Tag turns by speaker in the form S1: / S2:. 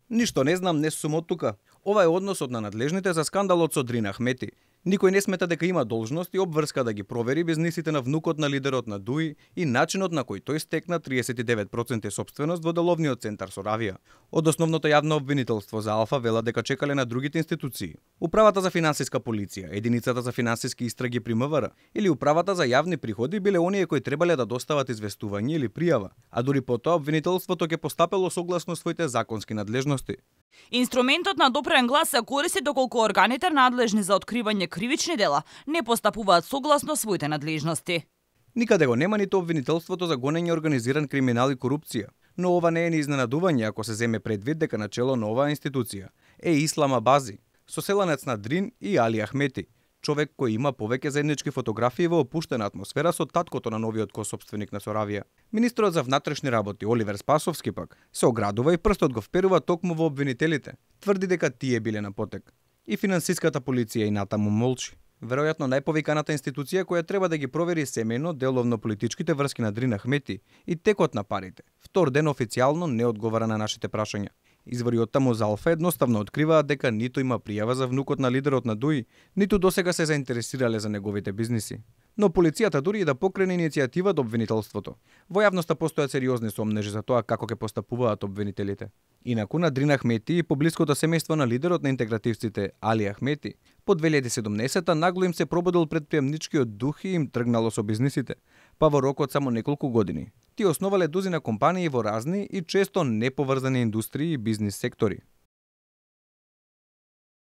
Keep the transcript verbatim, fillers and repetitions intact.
S1: Ништо не знам, не сум од тука. Ова е односот на надлежните за скандалот со Дрин Ахмети. Никој не смета дека има должност и обврска да ги провери бизнисите на внукот на лидерот на ДУИ и начинот на кој тој стекна триесет и девет проценти сопственост во деловниот центар Соравија. Од основното јавно обвинителство за Алфа вела дека чекале на другите институции. Управата за финансиска полиција, единицата за финансиски истраги при МВР или управата за јавни приходи биле оние кои требале да достават известување или пријава, а дури потоа обвинителството ќе постапело согласно своите законски надлежности.
S2: Инструментот на допрен глас се користи доколку органите надлежни за откривање кривични дела не постапуваат согласно своите надлежности.
S1: Никаде го нема ниту обвинителството за гонење организиран криминал и корупција, но ова не е ни изненадување ако се земе предвид дека начело на оваа институција е Ислам Абази, соселанец на Дрин и Али Ахмети, човек кој има повеќе заеднички фотографии во опуштена атмосфера со таткото на новиот косопственик на Соравија. Министрот за внатрешни работи Оливер Спасовски пак се оградува и прстот го вперува токму во обвинителите. Тврди дека тие биле на потек. И финансиската полиција и натаму молчи. Веројатно најповиканата институција која треба да ги провери семејно деловно политичките врски на Дрин Ахмети и текот на парите. Втор ден официјално не одговара на нашите прашања. Извори од таму за Алфа едноставно откриваат дека ниту има пријава за внукот на лидерот на ДУИ, ниту досега се заинтересирале за неговите бизниси. Но полицијата дури и да покрене иницијатива до обвинителството. Во јавноста постојат сериозни сомнежи за тоа како ќе постапуваат обвинителите. Инаку на Дрин Ахмети и поблиското семејство на лидерот на интегративците Али Ахмети, по две илјади и седумнаесета нагло им се пробудил предприемничкиот дух и им тргнало со бизнисите, па во рок од само неколку години. Тие основале дузина компании во разни и често неповрзани индустрии и бизнис сектори.